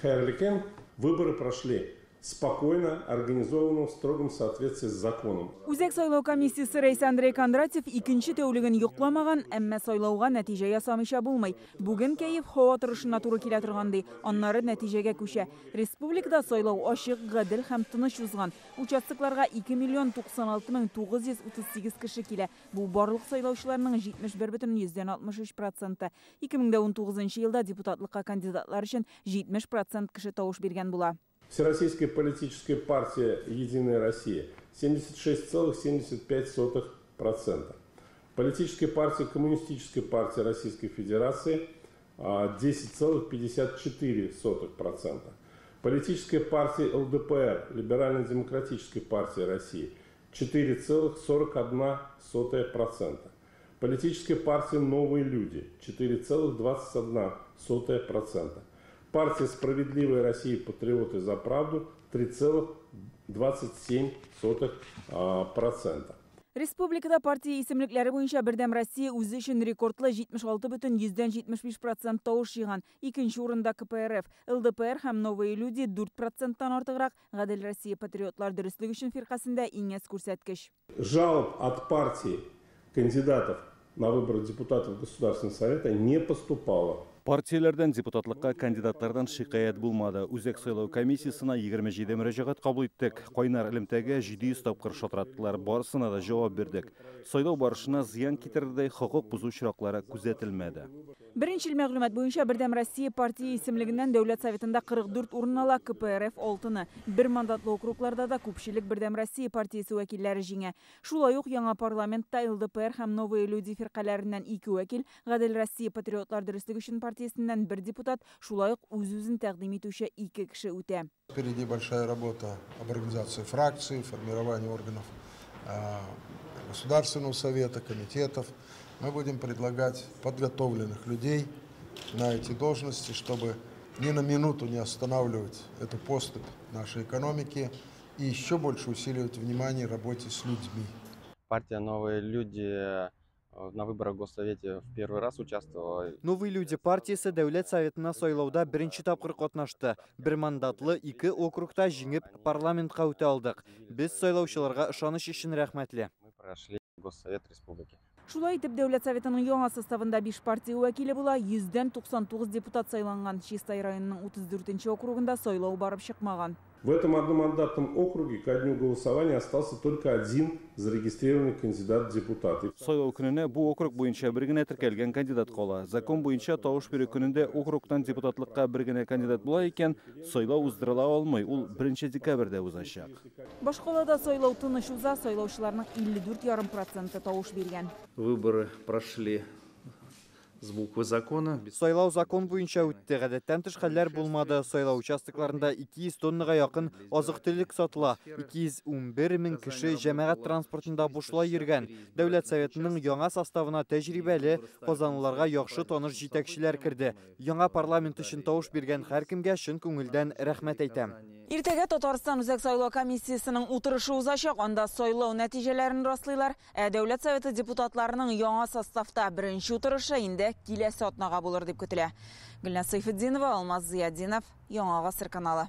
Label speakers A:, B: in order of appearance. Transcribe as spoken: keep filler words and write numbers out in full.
A: Хәерле көн. Выборы прошли спокойно, организованно, в строгом соответствии с законом.
B: Үзәк сайлау комиссиясе рәисе Андрей Кондратьев икенче тәүлеген йокламаган, әмма сайлауга нәтиҗә ясамыйча булмый. Бүген кәеф һава торышына туры килә торган ди. Аннары нәтиҗәгә күчә. Республикада сайлау ачык, гадел һәм тыныч узган. Участокларга ике миллион туксан алты мең тугыз йөз утыз сигез кеше килә. Бу барлык сайлаучыларның җитмеш бер бөтен йөздән алтмыш өч проценты. Ике мең дә унтугызынчы елда депутатлыкка кандидатлар өчен җитмеш процент кеше тавыш биргән була.
A: Всероссийская политическая партия «Единая Россия» семьдесят шесть целых семьдесят пять сотых процента. Политическая партия Коммунистическая партия Российской Федерации десять целых пятьдесят четыре сотых процента. Политическая партия ЛДПР, Либерально-демократическая партия России, четыре целых сорок одна сотая процента. Политическая партия «Новые люди» четыре целых двадцать одна сотая процента. Партия «Справедливая Россия. Патриоты за правду» три целых двадцать семь сотых процента.
B: Республикада партия исемлекләре буенча Бердәм Россия үзе өчен рекордлы җитмеш алты бөтен йөздән җитмеш биш процент тавыш җыйган. Икенче урында К П Р Ф, Л Д П Р һәм Новые люди дүрт проценттан артыграк. Гадел Россия патриотлар дөреслек өчен фиркасендә иң әз күрсәткеч.
A: Жалоб от партии кандидатов на выборы депутатов Государственного совета не поступало.
C: Партияләрдән депутатлыкка кандидатлардан шикаять булмады. Үзәк сайлау комиссиясенә егерме җиде мөрәҗәгать кабул иттек. Кайнар элемтәгә җиде йөз тапкыр шалтыраттылар, барысына да җавап бирдек. Сайлау барышына зыян китерердәй хокук бозу очраклары күзәтелмәде.
B: Беренчел мәгълүмат буенча Бердәм Россия партия исемлегеннән Дәүләт Советында кырык дүрт урын ала, К П Р Ф алтыны. Бер мандатлы округларда да күпчелек Бердәм Россия партиясе вәкилләре җиңә. Шулай ук яңа парламентта Л Д П Р һәм Новые люди фиркаләреннән ике вәкил, Гадел Россия патриотлар дөреслек өчен партиясеннән бер депутат, шулай ук үз-үзен тәкъдим итүче ике кеше үтә.
D: Впереди большая работа об организации фракций, формировании органов, э, Государственного совета, комитетов. Мы будем предлагать подготовленных людей на эти должности, чтобы ни на минуту не останавливать эту поступь нашей экономики и еще больше усиливать внимание работе с людьми.
E: Партия «Новые люди» на выборах в Госсовете в первый раз участвовала.
F: Новые люди партиясе Дәүләт Советына сайлауда беренче тапкыр катнашты. Бер мандатлы ике округта җиңеп парламентка үтә алдык. Без сайлаучыларга ышаныч өчен рәхмәтле.
E: Мы прошли Госсовет Республики.
B: Шулай итеп, Дәүләт Советының яңа составында биш партия вәкиле була, йөздән туксан тугыз депутат сайланган. Чистай районының утыз дүртенче округында сайлау барып чыкмаган.
A: В этом одномандатном округе ко дню голосования остался только один зарегистрированный кандидат в депутаты.
C: Сайлау көненә бу округ буенча бер генә теркәлгән кандидат кала. Закон буенча тавыш бирү көнендә округтан депутатлыкка бер генә кандидат була икән, сайлау уздырыла алмый. Ул беренче декабрьдә узачак.
B: Башкалада сайлау тыныч уза, сайлаучыларның илле дүрт ярым проценты тавыш биргән.
G: Выборы прошли с буквы закона.
F: Сайлау закон буенча үтте. Гадәттән тыш хәлләр булмады. Сайлау участокларында ике йөз тоннага якын азык-төлек сатыла. Ике йөз унбер мең кеше җәмәгать транспортында бушлай йөргән. Дәүләт Советының яңа составына тәҗрибәле, казанлыларга яхшы таныш җитәкчеләр керде. Яңа парламент өчен тавыш биргән һәркемгә чын күңелдән рәхмәт әйтәм.
B: Иртәгә Татарстан Үзәк сайлау комиссиясенең утырышы узачак. Анда сайлау нәтиҗәләрен раслыйлар. Ә Дәүләт Советы депутатларының яңа составта беренче утырышы инде киләсе атнага булыр дип көтелә. Гөлназ Сәйфетдинова, Алмаз Зыятдинов, Яңа Гасыр каналы.